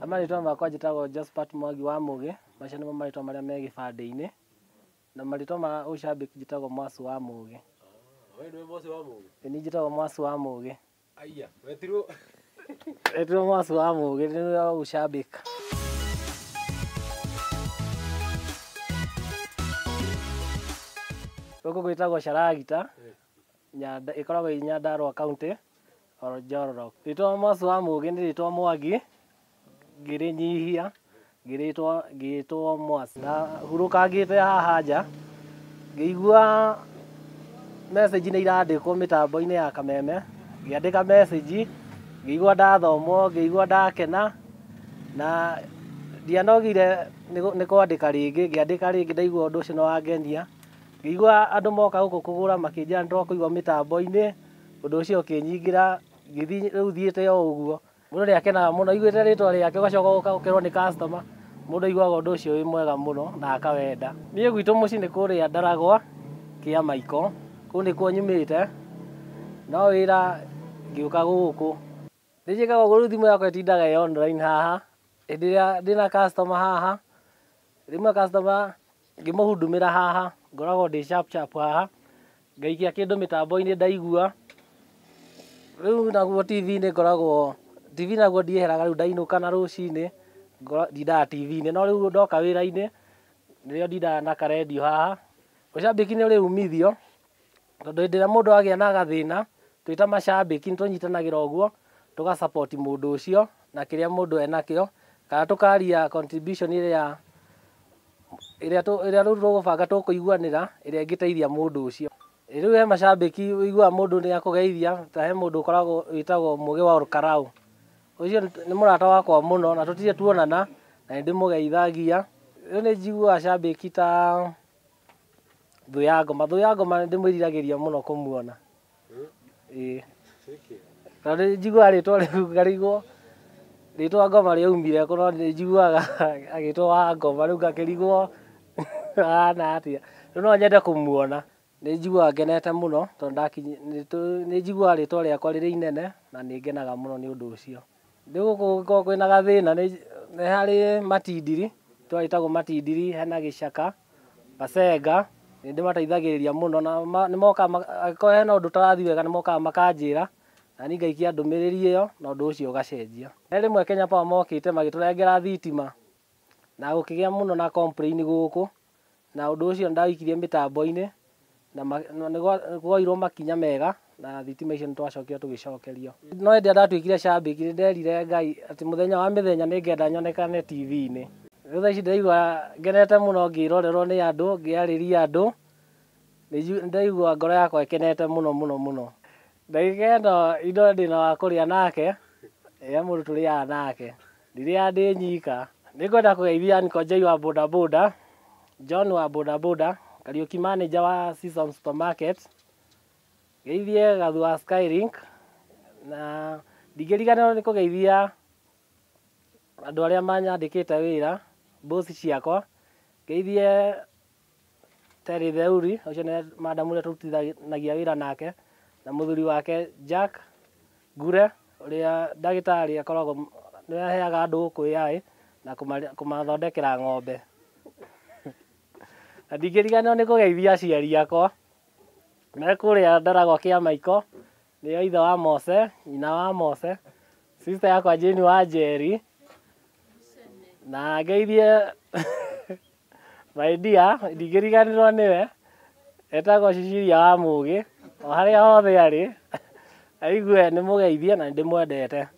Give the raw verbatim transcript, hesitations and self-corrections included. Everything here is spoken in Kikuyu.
Marĩtwa makwa njĩtagwo Josphat Mwangi wa Mũgĩ, macio nĩmo marĩtwa marĩa me gĩbandĩ-inĩ, na marĩtwa ma ũcambĩki njĩtagwo Mwasu wa Mũgĩ. We nĩwe Mwasu wa Mũgĩ? Ĩ niĩ njĩtagwo Mwasu wa Mũgĩ. Aya, wetirwo Wetirwo Mwasu wa Mũgĩ nĩwe ũcambĩki. Gũkũ gwĩtagwo Sharagita, Nyanda, ĩkoragwo ĩ Nyandarua County, oro Njororok. Rĩtwa Mwasu wa Mũgĩ nĩ rĩtwa Mwangi, ngĩrĩnyihia, ngĩrĩtwo ngĩtwo Mwasu. Na hurũkangĩte haha nja, ngĩigua message nĩ irandĩkwo mĩtambo-inĩ ya Kameme, ngĩandĩka message, ngĩigua ndathomwo, ngĩigua ndakena, na ndianogire nĩ kwandĩka rĩngĩ, ngĩandĩka rĩngĩ ndaigua ũndũ ũcio nĩ wangenia. Ngĩigua andũ moka gũkũ kũgũra makĩnjĩra nĩ twakũigua mĩtambo-inĩ, ũndũ ũcio ũkĩnyingĩra, ngĩthiĩ rĩu thiĩte o ũguo. Mũndũ nĩ akenaga mũno aiguĩte rĩtwa rĩake ũgacoka ũgoka ũkerwo nĩ customer, mũndũ aiguaga ũndũ ũcio wĩ mwega mũno na akawenda. Niĩ gwitũ mũciĩ nĩ kũrĩa Ndaragwa, Kĩamaiko, kũu nĩkuo nyumĩte, no wĩra ngĩũka gũkũ. Nĩ njĩkaga ũguo rĩu thimũ yakwa ĩtindaga ĩ online haha, hĩndĩ ĩrĩa ndĩna customer haha, rĩmwe customer ngĩmũhudumĩra haha, ngoragwo ndĩ sharp sharp haha, ngaikia kĩndũ mĩtambo-inĩ ndaigua. Rĩu naguo T V-inĩ ngoragwo, T V naguo ndieheraga rĩu ndainũka na rũcinĩ, ndindaga T V-inĩ, no rĩu ndoka wĩra-inĩ, nĩrĩo ndindaga na karendio haha. Ũcambĩki nĩ ũrĩ umithio, tondũ hĩndĩ ĩrĩa mũndũ agĩa na gathĩna, twĩ ta macambĩki nĩ tũnyitanagĩra ũguo, tũga support mũndũ ũcio na kĩrĩa mũndũ enakĩo, kana tũkaria contribution ĩrĩa ĩrĩa ĩrĩa rĩu tũgũbanga tũkũiguanĩra, ĩrĩa ĩngĩteithia mũndũ ũcio. Rĩu he macambĩki ũiguaga mũndũ nĩ akũgeithia, ta he mũndũ ũkoragwo wĩtagwo Mũgĩ wa Olkarau. Ũcio nĩ mũrata wakwa mũno na tũtirĩ tuonana, na nĩ ndĩmũgeithagia. Rĩu nĩ njiguaga cambĩki ta Thũ ya Ngoma. Thũ ya Ngoma nĩ ndĩmwĩriragĩria mũno kũmuona. Ĩĩ. Tondũ nĩ njiguaga rĩtwa rĩu ngarigwo rĩtwa Ngoma rĩaumire kũ, no nĩ njiguaga agĩtwo wa Ngoma rĩu ngakĩrigwo ahana atĩa. Rĩu no nyende kũmuona. Nĩ njiguaga ngenete mũno tondũ nĩ njiguaga rĩtwa rĩakwa rĩrĩ inene na nĩ ngenaga mũno nĩ ũndũ ũcio. Rĩu gũkũ gũkoragwo kwĩna gathĩna nĩ harĩ matindiri, itũra rĩtagwo Matindiri, hena Gĩcaka, Basenga, nĩ ndĩmateithagĩrĩria mũno na nĩ mokaga angĩkorwo hena ũndũ ũtarathiĩ wega nĩ mokaga makanjĩra, na niĩ ngaikia ndũmĩrĩri ĩyo na ũndũ ũcio ũgacenjia. He rĩmwe Kenya Power mokĩte magĩtũrengera thitima, na gũkĩgĩa mũno na complain gũkũ, na ũndũ ũcio nĩ ndawĩikirie mĩtambo-inĩ, na nĩ kuoirwo makinya mega, na thitima icio nĩ twacokire tũgĩcokerio. No hĩndĩ ĩrĩa ndatuĩkire cambĩki nĩ nderire Ngai atĩ mũthenya wa mĩthenya nĩ ngenda nyonekane T V-inĩ. Rĩu thaa ici ndĩraigua ngenete mũno ngĩrorerwo nĩ andũ, ngĩarĩria andũ, nĩ ndaigua ngoro yakwa ĩkenete mũno mũno mũno. Ndagĩka ĩno indo ndĩna wa kũrĩa nake, he mũndũ tũrĩaga nake, ndirĩaga ndĩ nyika. Nĩ ngwenda kũgeithia Uncle Jay wa bodaboda, John wa bodaboda, Kariũki manager wa Season Supermarket, ngeithie Gathu wa Skylink, na ndingĩriganĩrwo nĩ kũgeithia andũ arĩa manyandĩkĩte wĩra, boss ciakwa, ngeithie Terry Theuri, ũcio nĩ madam ũrĩa tũrutithanagia wĩra nake, na mũthuri wake Jack Ngure, ũrĩa ndagĩtarĩ akoragwo nĩwe aheaga andũ gũkũ A I na kũmathondekera ng'ombe. Na ndingĩriganĩrwo nĩ kũgeithia aciari akwa, me kũrĩa Ndaragwa Kĩamaiko, nĩo ithe wa Mose, nyina wa Mose, sister yakwa Jane wa Njeri, na ngeithie my dear, ndingĩriganĩrwo nĩwe, etagwo Cecilia wa Mũgĩ, o harĩa hothe arĩ, aigue nĩ mũgeithie na nĩ ndĩmwendete.